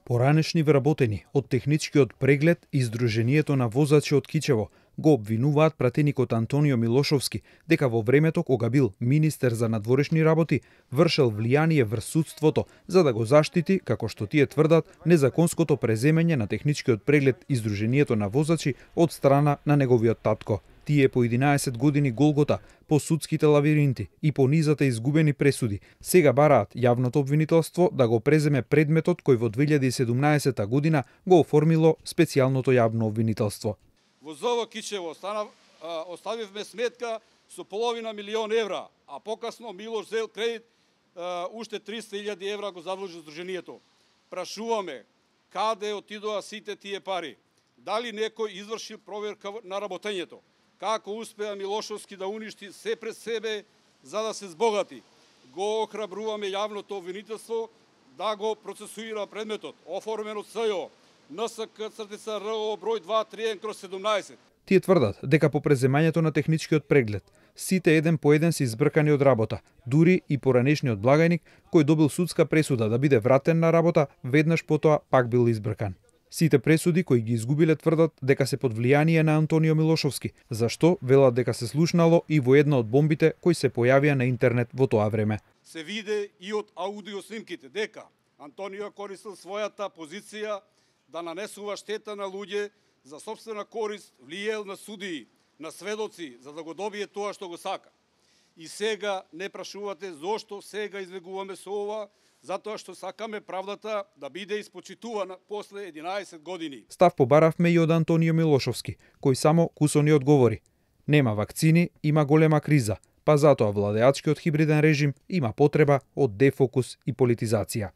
Поранешни вработени од техничкиот преглед и Сдруженијето на возачи од Кичево го обвинуваат пратеникот Антонио Милошовски дека во времето кога бил министер за надворешни работи вршел влијание врз судството за да го заштити, како што тие тврдат, незаконското преземање на техничкиот преглед и Сдруженијето на возачи од страна на неговиот татко. Тие по 11 години голгота, по судските лавиринти и по низата изгубени пресуди, сега бараат јавното обвинителство да го преземе предметот кој во 2017 година го оформило специјалното јавно обвинителство. Во ЗОВ Кичево оставивме сметка со половина милион евра, а покасно Милош зел кредит уште 300.000 евра го задлужи Сдруженијето. Прашуваме каде отидоа сите тие пари? Дали некој изврши проверка на работењето? Како успеа Милошовски да уништи се пред себе за да се збогати? Го охрабруваме јавното обвинителство да го процесуира предметот, оформен од СЈО, НСК/РО број 231/17. Тие тврдат дека по преземањето на техничкиот преглед сите еден по еден се избркани од работа, дури и поранешниот благајник кој добил судска пресуда да биде вратен на работа, веднаш потоа пак бил избркан. Сите пресуди кои ги изгубиле тврдат дека се под влијание на Антонио Милошовски, зашто велат дека се слушнало и во една од бомбите кои се појавија на интернет во тоа време. Се виде и од аудио снимките дека Антонио користил својата позиција да нанесува штета на луѓе за сопствена корист, влиел на судии, на сведоци, за да го добие тоа што го сака. И сега не прашувате зошто сега избегуваме со ова, затоа што сакаме правдата да биде испочитувана после 11 години. Став побаравме и од Антонио Милошовски, кој само кусони одговори. Нема вакцини, има голема криза, па затоа владеачкиот хибриден режим има потреба од дефокус и политизација.